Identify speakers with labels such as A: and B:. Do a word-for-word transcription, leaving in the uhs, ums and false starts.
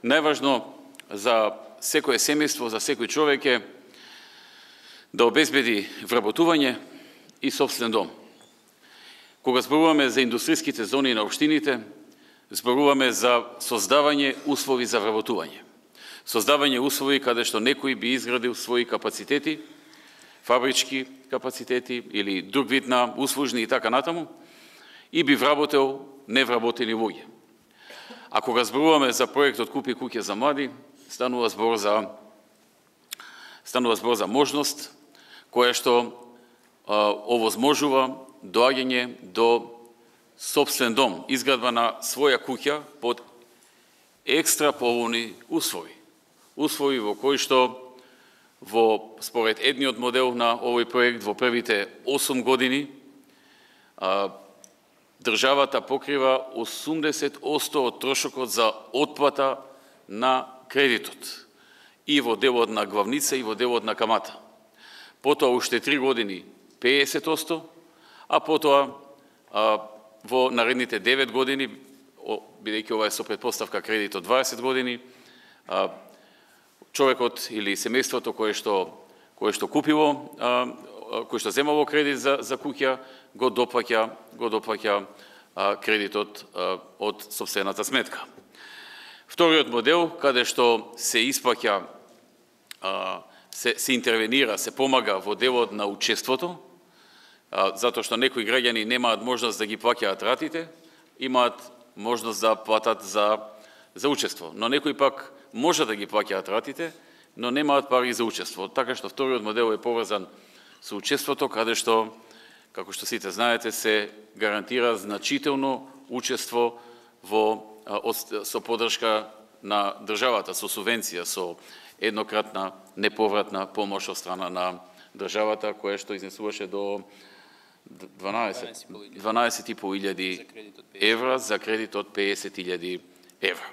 A: Најважно за секое семејство, за секој човек е да обезбеди вработување и собствен дом. Кога зборуваме за индустријските зони на општините, зборуваме за создавање услови за вработување. Создавање услови каде што некој би изградил своји капацитети, фабрички капацитети или друг вид на услужни и така натаму, и би вработел невработени луѓе. А кога зборуваме за проектот Купи куќа за млади, станува збор за станува збор за можност која што а, овозможува доаѓање до собствен дом, изградба на своја куќа под екстра поволни услови. Услови во кои што во според едниот модел на овој проект во првите осум години а, државата покрива осумдесет одсто од трошокот за отплата на кредитот и во делот на главница и во делот на камата. Потоа уште три години педесет одсто, а потоа а, во наредните девет години, бидејќи ова е со претпоставка кредитот дваесет години, а, човекот или семејството кое што кое што купило, а, кое што земало кредит за за куќа, го доплаќа го доплаќа а, кредитот а, од сопствената сметка. Вториот модел, каде што се исплаќа, а, се, се интервенира, се помага во делот на учеството, а, затоа што некои граѓани немаат можност да ги плаќаат ратите, имаат можност да платат за за учество, но некои пак може да ги плаќаат ратите, но немаат пари за учество. Така што вториот модел е поврзан со учеството, каде што, како што сите знаете, се гарантира значително учество во со поддршка на државата, со субвенција, со еднократна неповратна помош од страна на државата, која што изнесуваше до дванаесет и по илјади евра за кредит од педесет илјади евра.